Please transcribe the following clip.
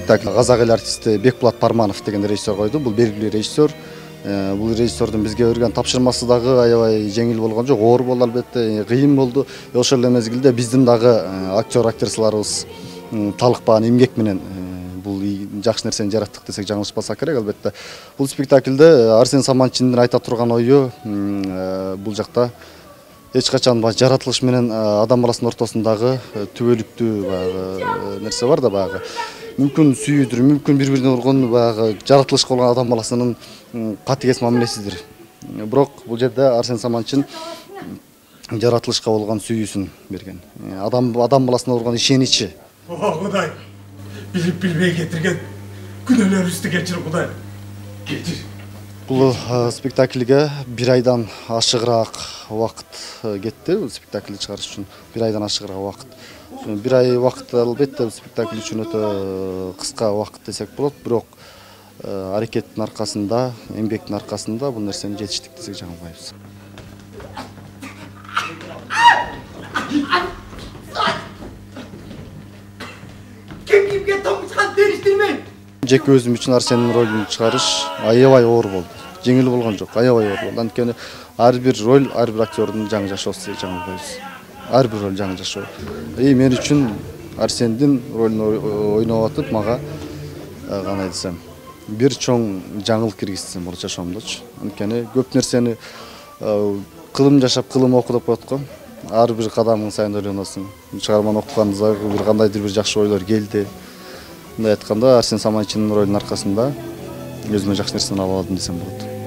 спектакль казак эл артисти Бекбулат Парманов деген режиссер койду. Бул белгилүү режиссер. Бул режиссердун бизге берген тапшырмасы дагы аябай жеңил болгон жок, оор болду албетте, кыйын болду. Ошол эле мезгилде биздин дагы актерларыбыз талыкпаган эмгек менен бул жакшы нерсени жараттык десек жаңылышпасак керек. Албетте бул спектакльде Арсен Саманчиндин айта турган ою бул жакта эч качан жаратылыш менен адам баласынын ортосундагы түбөлүктүү баягы нерсе бар да, баягы мүмкүн сүйүүдүр, мүмкүн бири-бирине ургон баягы жаратылышка болгон адам баласынын катыгез мамилесидир. Бирок бул жерде Арсен Саманчин жаратылышка болгон сүйүүсүн берген. Адам баласына болгон ишеничи. О, Кудай, билип билбей кетирген күнөөлөрүбүздү кечир, Кудай. Кечир. Бул спектакльге 1 айдан ашыгыраак убакыт кетти. Бул спектакльди чыгарыш үчүн 1 айдан ашыгыраак убакыт. 1 ай убакыт албетте спектакль үчүн өтө кыска убакыт десек болот, бирок аракеттин аркасында, эмгектин аркасында бул нерсени жетиштик десек жаңылбайбыз. Кимге томушкан териштирмен? Жеке өзүм үчүн Арсендин ролун чыгарыш аябай оор болду. Жеңил болгон жок, аябай оор болду. Анткени ар бир роль, ар бир актердун жаңы жашоосу десек жаңылбайбыз. Ар бир роль жаңы жашоо. Мен үчүн Арсендин ролун ойноп атып, мага кандай десем, бир чоң жаңылык киргизсем болот жашоомдочу. Анткени көп нерсени кылым жашап, кылым оку деп коет го. Ар бир кадамың сайын ойлоносуң. Чыгарманы окуганда бир кандайдыр бир жакшы ойлор келди. Мындай айтканда, Арсен Саманчиндин ролунун аркасында өзүмө жакшы нерсени ала алдым десем болот.